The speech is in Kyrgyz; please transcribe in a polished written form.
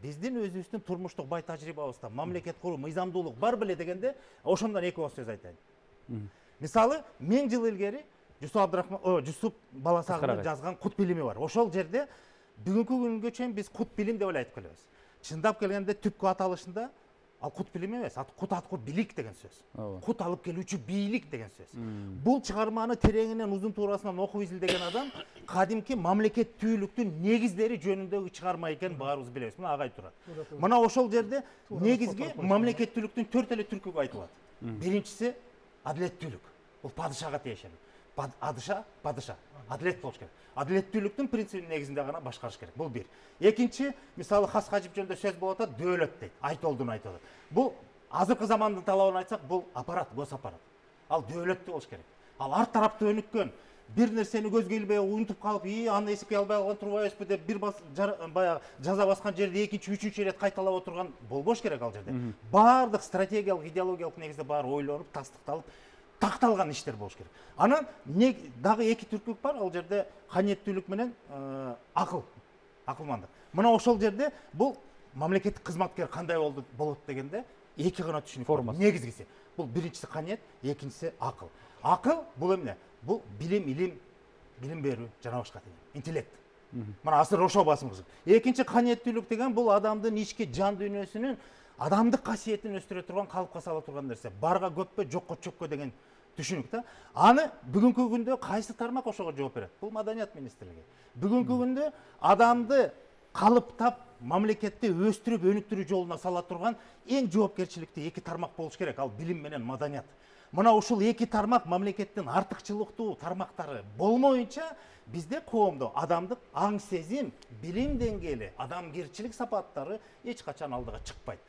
Биздин өзүбүздүн турмуштук бай тажрыйбабызда мамлекет куруу, мыйзамдуулук бар беле дегенде, ошондон эки ооз сөз айтайын. Мисалы, 1000 жыл илгери Жусуп Баласагындын жазган Кут билими бар. Ошол жерде бүгүнкү күнгө чейин биз кут билим деп эле айтып келебиз. Чындап келгенде түпкү аталышында ал кут билим эмес, кут аткы билик деген сөз. Кут алып келүүчү бийлик деген сөз. Бул чыгарманы тереңинен узун туурасынан окуп изилдеген адам кадимки мамлекеттүүлүктүн негиздери жөнүндөгү чыгарма экенин баарыбыз билебиз. Мына агай турат. Мына ошол жерде негизги мамлекеттүүлүктүн 4 эле түркүгө айтылат. Биринчиси адилеттүүлүк. Бул падышага тиешелүү. Падыша, адилет болуш керек. Адилеттүүлүктүн принцибинин негизинде гана башкарыш керек. Бул бир. Экинчи, мисалы Хас Хажип жөнүндө сөз болуп атат, дөөлөт дейт. Айтолдун айтылат. Бул азыркы замандын талабын айтсак, бул аппарат, гос аппарат. Ал дөөлөттүү болуш керек. Ал ар тараптуу өнүккөн, бир нерсени көзгө илбей унутуп калып, аны эсепке албай калган турбайбызбы деп бир баягы жаза баскан жерде экинчи, үчүнчү ирет кайталап отурган болбош керек ал жерде. Баардык стратегиялык, идеологиялык негизде баары ойлонуп, тастыкталып, такталган иштер болуш керек. Анан дагы эки түркүк бар, ал жерде каниеттүүлүк менен акылмандык. Мына ошол жерде бул мамлекеттик кызматкер кандай болот дегенде эки гана түшүнүк бар. Негизгиси бул биринчиси каниет, экинчиси акыл. Акыл бул эмне? Бул билим берүү, жана башка интеллект. Мына азыр ошо басым кызык. Экинчи каниеттүүлүк деген бул адамдын ички жан дүйнөсүнүн адамдык касиетин өстүрө турган, калыпка сала турган нерсе. Барга көппө, жокко чөккө деген түшүнүк да. Аны бүгүнкү күндө кайсы тармак ошого жооп берет? Бул Маданият министрлиги. Бүгүнкү күндө адамды калыптап, мамлекетти өстүрүп, өнүктүрүү жолуна сала турган эң жоопкерчиликтүү эки тармак болуш керек. Ал билим менен маданият. Мына ушул эки тармак мамлекеттин артыкчылыктуу тармактары болмоюнча бизде коомдо адамдык аң сезим, билим деңгээли, адамгерчилик сапаттары эч качан алдыга чыкпайт.